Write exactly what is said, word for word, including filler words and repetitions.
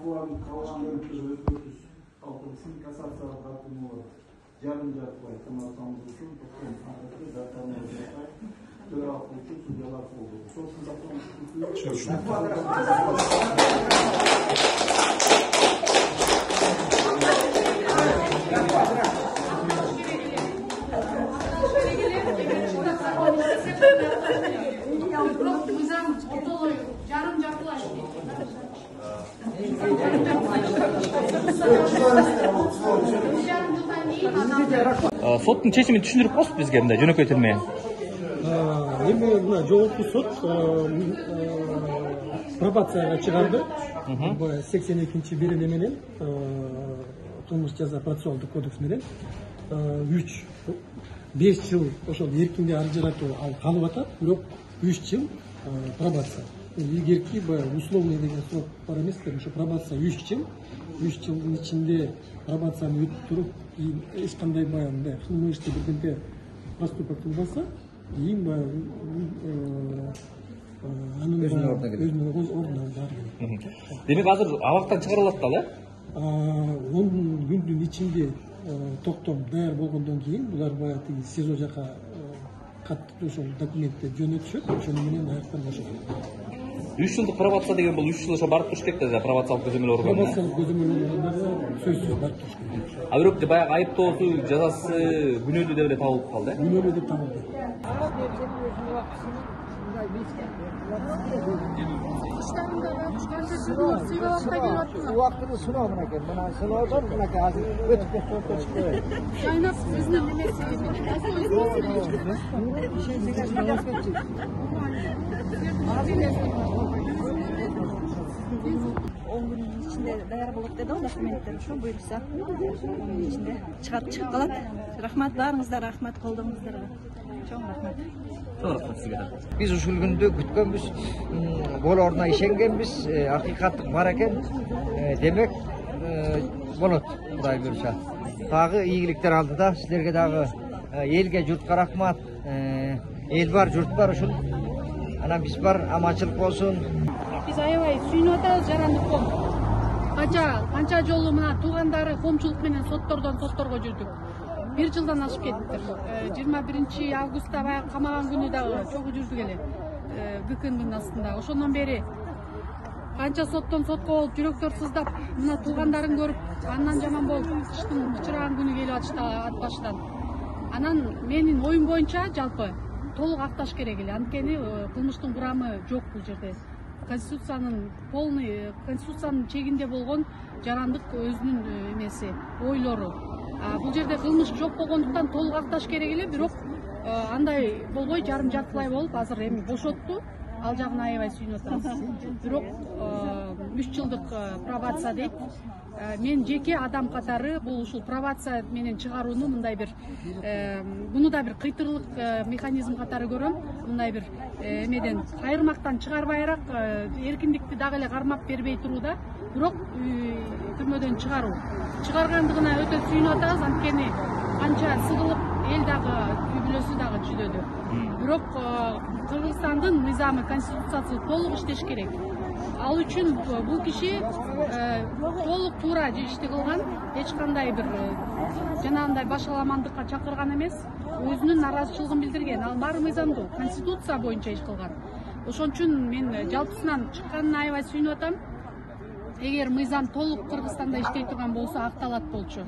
талкууланып калган өзгөртүш калтырсын кассациялык тартымы жарым жартылай кымбаттамыз үчүн токтом санкты датаны жасай төралык үчүн судьялар болду. Ошол соттун чечимин түшүндүрүп коесуз бизге мындай жөнөкөй тил менен. Эми мына жогорку сот пробацияга чыгарды. сексен экинчи бериле менен кылмыш жаза процессуалдык кодекс менен үч беш жыл ошол эркинде ажыратуу ал калып атат, бирок үч жыл пробация. Илгерки баягы условный деген срок бар эмес, ошо пробация үч жыл. үч жылдын ичинде пробацияны өтүп туруп, эч кандай баягы кылмышты бирдемке проступок кылбаса, кийин баягы анын өзүнүн ордуна барып. Демек азыр абактан чыгарылат да, э? он күндүн ичинде токтом даяр болгондон кийин булар баягы тиги СИЗО жака кат ошол документти жөнөтүшөт, ошону менен аяктан бошотот. үч жылдык пробация деген бул үч жыл ошо барып туруш керек да, пробациялык көзөмөл органына. Пробациялык көзөмөл органына сөзсүз барып туруш керек. А бирок баягы айыптоосу, жазасы күнөөлүү деп эле табылып калды, э? Күнөөлүү деп табылды. Убактыны сыноо мынакей, мына сыноодон мынакей азыр өтүп кетип чыкты. Жайнап өзүнүн немеси. он күндүн ичинде даяр болот деди го документтер, ошо буюрса онун ичинде чыгарып чыгып калат. Рахмат баарыңыздарга, рахмат колдооңуздарга. Чоң рахмат. Чоң рахмат сизге. Биз ушул күндү күткөнбүз, болоруна ишенгенбиз, акыйкаттык бар экен. Демек болот, Кудай буюрса. Дагы ийгиликтер алдыда силерге дагы элге, журтка рахмат. Эл бар, журт бар ушул. Анан биз бар, аманчылык болсун. Биз аябай сүйүнүп атабыз жарандык ком. Канча канча жолу мына туугандары коомчулук менен соттордон сотторго жүрдүк. бир жылдан ашып кеттиктир. жыйырма биринчи августта баягы камаган күнү дагы чогуу жүрдүк эле. ГКнын астында. Ошондон бери канча соттон сотко болуп, жүрөктөр сыздап, мына туугандарың көрүп, андан жаман болуп, кыштын кычыраган күнү келип атышты ат баштан. Анан менин оюм боюнча жалпы толук акташ керек эле. Анткени кылмыштын курамы жок бул жерде. Конституциянын полный, конституциянын чегинде болгон жарандык өзүнүн эмеси, ойлору. Бул жерде кылмыш жок болгондуктан толук акташ керек эле, бирок андай болбой жарым жартылай болуп азыр эми бошотту. Ал жагына аябай сүйүнүп атабыз. Бирок үч жылдык пробация дейт. Мен жеке адам катары бул ушул пробация менен чыгарууну мындай бир буну да бир кыйтырлык механизм катары көрөм. Мындай бир эмеден кайырмактан чыгарбайраак эркиндикти дагы эле кармап бербей турууда, бирок түрмөдөн чыгаруу. Чыгаргандыгына өтө сүйүнүп атабыз, анткени канча сыгылып эл дагы үй бүлөсү дагы жүдөдү. Бирок Кыргызстандын мыйзамы, конституциясы толук иштеш керек. Ал үчүн бул киши толук туура ишти кылган, эч кандай бир жанагындай башаламандыкка чакырган эмес, өзүнүн наразычылыгын билдирген. Ал баары мыйзамдуу, конституция боюнча иш кылган. Ошон үчүн мен жалпысынан чыкканына аябай сүйүнүп атам. Эгер мыйзам толук Кыргызстанда иштей турган болсо акталат болчу.